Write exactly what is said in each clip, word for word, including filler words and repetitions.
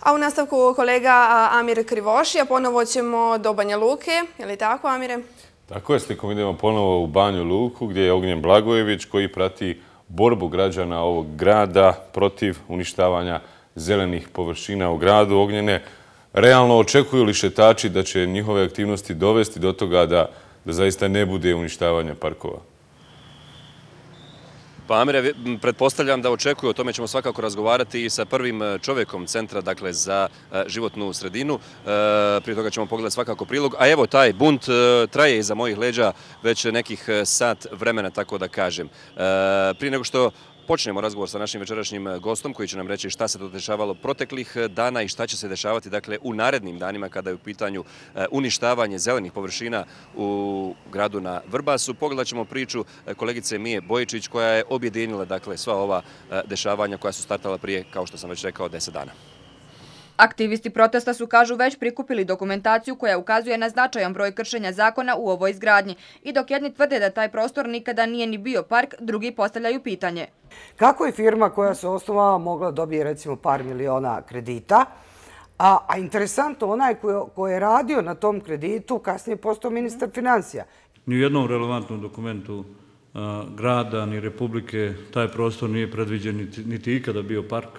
A u nastavku kolega Amir Krivošija, ponovo ćemo do Banja Luke. Je li tako, Amire? Tako je, slikom idemo ponovo u Banju Luku gdje je Ognjen Blagojević koji prati borbu građana ovog grada protiv uništavanja zelenih površina u gradu. Ognjene, realno očekuju li šetači da će njihove aktivnosti dovesti do toga da, da zaista ne bude uništavanja parkova? Pa Amire, pretpostavljam da očekuju, o tome ćemo svakako razgovarati i sa prvim čovjekom Centra, dakle, za životnu sredinu. Prije toga ćemo pogledati svakako prilog. A evo, taj bunt traje iza mojih leđa već nekih sat vremena, tako da kažem. Prije nego što počnemo razgovor sa našim večerašnjim gostom koji će nam reći šta se to dešavalo proteklih dana i šta će se dešavati dakle, u narednim danima kada je u pitanju uništavanje zelenih površina u gradu na Vrbasu. Pogledat ćemo priču kolegice Mije Bojičić koja je objedinila dakle, sva ova dešavanja koja su startala prije, kao što sam već rekao, deset dana. Aktivisti protesta su, kažu, već prikupili dokumentaciju koja ukazuje na značajan broj kršenja zakona u ovoj izgradnji. I dok jedni tvrde da taj prostor nikada nije ni bio park, drugi postavljaju pitanje. Kako je firma koja se osnovala mogla dobije recimo par miliona kredita, a, a interesantno onaj koji je radio na tom kreditu kasnije postao ministar financija. Ni u jednom relevantnom dokumentu a, grada ni Republike taj prostor nije predviđen niti, niti ikada bio park.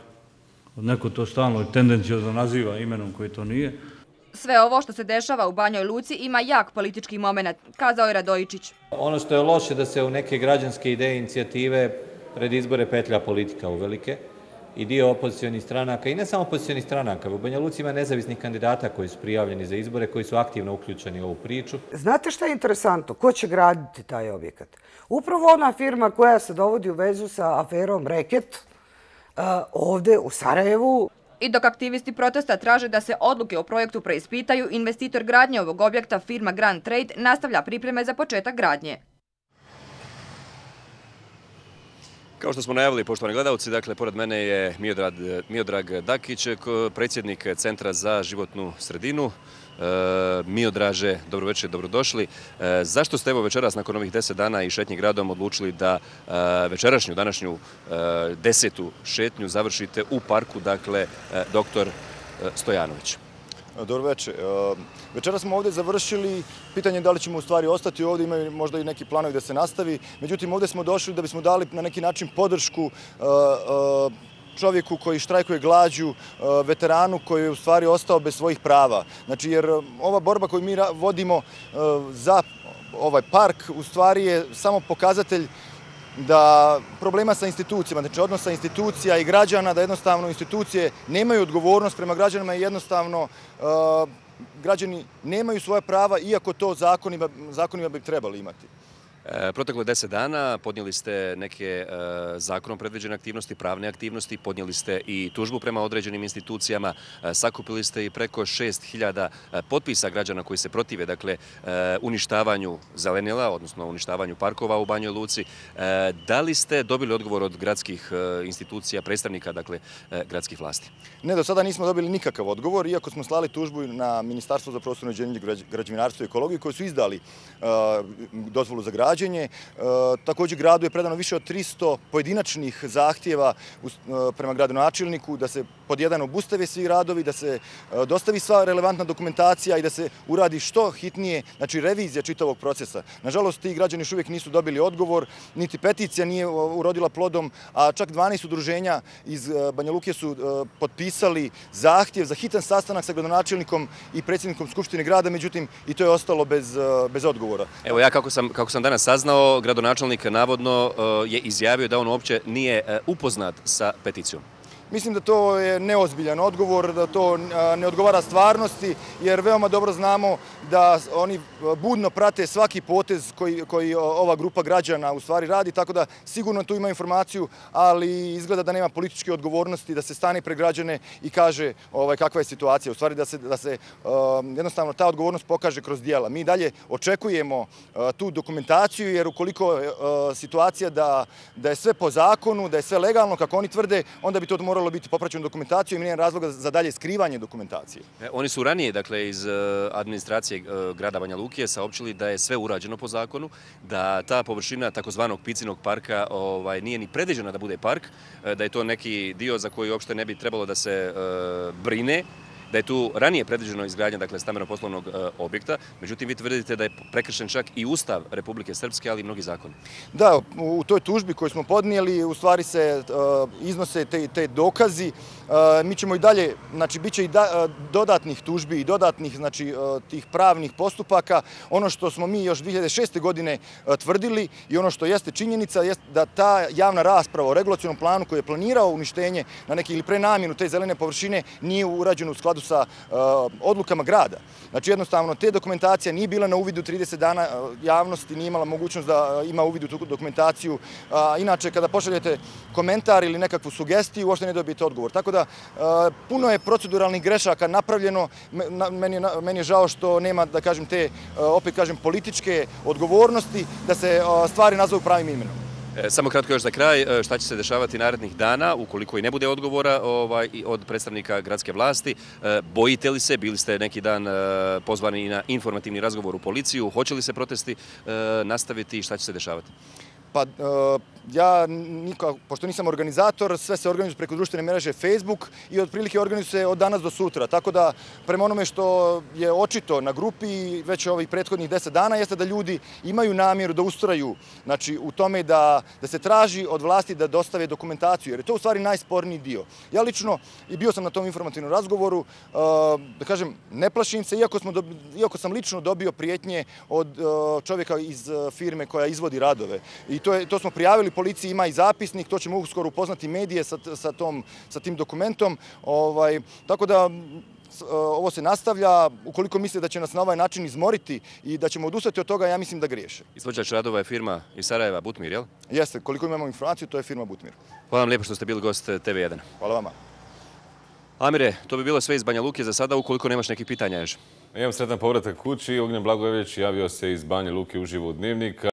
Neko to stalno i tendencijozno naziva imenom koji to nije. Sve ovo što se dešava u Banjoj Luci ima jak politički moment, kazao je Radojičić. Ono što je loše da se u neke građanske ideje, inicijative pred izbore petlja politika uvelike i dio opozicionih stranaka, i ne samo opozicionih stranaka, u Banja Luci ima nezavisnih kandidata koji su prijavljeni za izbore, koji su aktivno uključeni u ovu priču. Znate šta je interesantno? Ko će graditi taj objekat? Upravo ona firma koja se dovodi u vezu sa aferom Reket, ovdje u Sarajevu. I dok aktivisti protesta traže da se odluke o projektu preispitaju, investitor gradnje ovog objekta, firma Grand Trade, nastavlja pripreme za početak gradnje. Kao što smo najavili, poštovani gledalci, dakle, pored mene je Miodrag, Miodrag Dakić, predsjednik Centra za životnu sredinu. E, Miodraže, dobro večer, dobrodošli. E, zašto ste evo večeras nakon ovih deset dana i šetnji gradom odlučili da e, večerašnju, današnju e, desetu šetnju završite u parku, dakle, e, doktor Stojanović? Dobro večer. Večera smo ovdje završili. Pitanje je da li ćemo u stvari ostati ovdje, imaju možda i neki planovi da se nastavi. Međutim, ovdje smo došli da bismo dali na neki način podršku čovjeku koji štrajkuje glađu, veteranu koji je u stvari ostao bez svojih prava. Znači, jer ova borba koju mi vodimo za ovaj park u stvari je samo pokazatelj da problema sa institucijama, znači odnosa institucija i građana, da jednostavno institucije nemaju odgovornost prema građanima i jednostavno uh, građani nemaju svoja prava, iako to zakonima, zakonima bi trebali imati. Proteklo deset dana podnijeli ste neke zakonom predviđene aktivnosti, pravne aktivnosti, podnijeli ste i tužbu prema određenim institucijama, sakupili ste i preko šest hiljada potpisa građana koji se protive, dakle, uništavanju zelenila, odnosno uništavanju parkova u Banjoj Luci. Da li ste dobili odgovor od gradskih institucija, predstavnika, dakle, gradskih vlasti? Ne, do sada nismo dobili nikakav odgovor, iako smo slali tužbu na Ministarstvo za prostorno uređenje, građevinarstvo i ekologiju koji su izdali dozvolu za građenje. Također gradu je predano više od tristo pojedinačnih zahtjeva prema gradonačelniku da se pod jedan obustave svi radovi, da se dostavi sva relevantna dokumentacija i da se uradi što hitnije, znači revizija čitavog procesa. Nažalost, ti građani još uvijek nisu dobili odgovor, niti peticija nije urodila plodom, a čak dvanaest udruženja iz Banja Luke su potpisali zahtjev za hitan sastanak sa gradonačelnikom i predsjednikom Skupštine grada, međutim i to je ostalo bez, bez odgovora. Evo ja kako sam, kako sam danas saznao, gradonačelnik navodno je izjavio da on uopće nije upoznat sa peticijom. Mislim da to je neozbiljan odgovor, da to ne odgovara stvarnosti, jer veoma dobro znamo da oni budno prate svaki potez koji, koji ova grupa građana u stvari radi, tako da sigurno tu ima informaciju, ali izgleda da nema političke odgovornosti da se stane pred građane i kaže ovaj, kakva je situacija. U stvari da se, da se um, jednostavno ta odgovornost pokaže kroz dijela. Mi dalje očekujemo uh, tu dokumentaciju, jer ukoliko je uh, situacija da, da je sve po zakonu, da je sve legalno, kako oni tvrde, onda bi to moralo biti popraćeno dokumentacijom i nema razloga za dalje skrivanje dokumentacije. E, oni su ranije, dakle, iz uh, administracije administracije grada Banja Luke saopćili da je sve urađeno po zakonu, da ta površina takozvanog Picinog parka nije ni predviđena da bude park, da je to neki dio za koji uopšte ne bi trebalo da se brine, da je tu ranije predviđeno izgradnja dakle, stambeno-poslovnog objekta, međutim vi tvrdite da je prekršen čak i Ustav Republike Srpske, ali i mnogi zakoni. Da, u toj tužbi koju smo podnijeli u stvari se iznose te dokazi. Mi ćemo i dalje, znači bit će i dodatnih tužbi i dodatnih tih pravnih postupaka. Ono što smo mi još dvije hiljade šeste. godine tvrdili i ono što jeste činjenica je da ta javna rasprava o regulacionom planu koji je planirao uništenje na neki ili prenamjenu te zelene površine nije urađeno u skladu sa odlukama grada. Znači jednostavno te dokumentacija nije bila na uvidu trideset dana, javnosti nije imala mogućnost da ima uvid u tu dokumentaciju. Inače kada pošaljete komentar ili nekakvu sugestiju uopšte ne dobijete odgovor. Tako da puno je proceduralnih grešaka napravljeno. Meni je žao što nema da kažem te opet kažem političke odgovornosti da se stvari nazovu pravim imenom. Samo kratko još za kraj, šta će se dešavati narednih dana ukoliko i ne bude odgovora od predstavnika gradske vlasti? Bojite li se, bili ste neki dan pozvani na informativni razgovor u policiju, hoće li se protesti nastaviti i šta će se dešavati? Pa ja, pošto nisam organizator, sve se organizuje preko društvene mreže Facebook i otprilike organizuje se od danas do sutra. Tako da, prema onome što je očito na grupi već ovih prethodnih deset dana, jeste da ljudi imaju namjeru da ustraju u tome da se traži od vlasti da dostave dokumentaciju, jer je to u stvari najsporniji dio. Ja lično, i bio sam na tom informativnom razgovoru, da kažem, ne plašim se, iako sam lično dobio prijetnje od čovjeka iz firme koja izvodi radove. I to smo prijavili policiji, ima i zapisnik, to ćemo uskoro upoznati medije sa tim dokumentom. Tako da ovo se nastavlja. Ukoliko misle da će nas na ovaj način izmoriti i da ćemo odustati od toga, ja mislim da griješe. Izvođač radova je firma iz Sarajeva, Butmir, jel? Jeste, koliko imamo informaciju, to je firma Butmir. Hvala vam lijepo što ste bili gost T V jedan. Hvala vama. Amire, to bi bilo sve iz Banja Luke za sada, ukoliko nemaš nekih pitanja još. Imam sretan povratak kući. Ognjen Blagojević javio se iz Banja Luke uživo u Dnevnika.